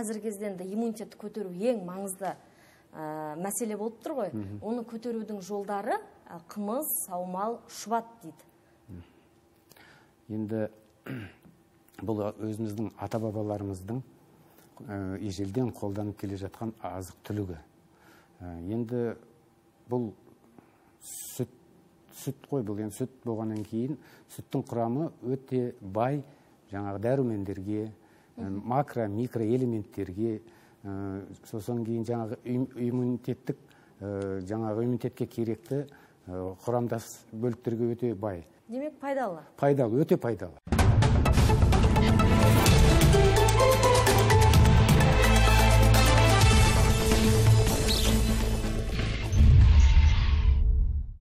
азыркы кезде энди иммунитетти көтөрүү эң маңызды маселе болуп турбайбы? Ону көтөрүүдүн жолдары кымыз, саумал, шубат дейт. Енді бұл өзіміздің ата-бабаларымыздың ежелден қолданып келе жатқан азық түлігі. Енді бұл сүт қой, бұл енді сүт болғаннан кейін сүттің құрамы өте бай жаңағы дәрумендерге, макро, микро элементтерге, сосын кейін жаңағы иммунитетке керекті құрамдас бөліктерге өте бай. Демек пайдалы. Пайдалы, өте пайдалы.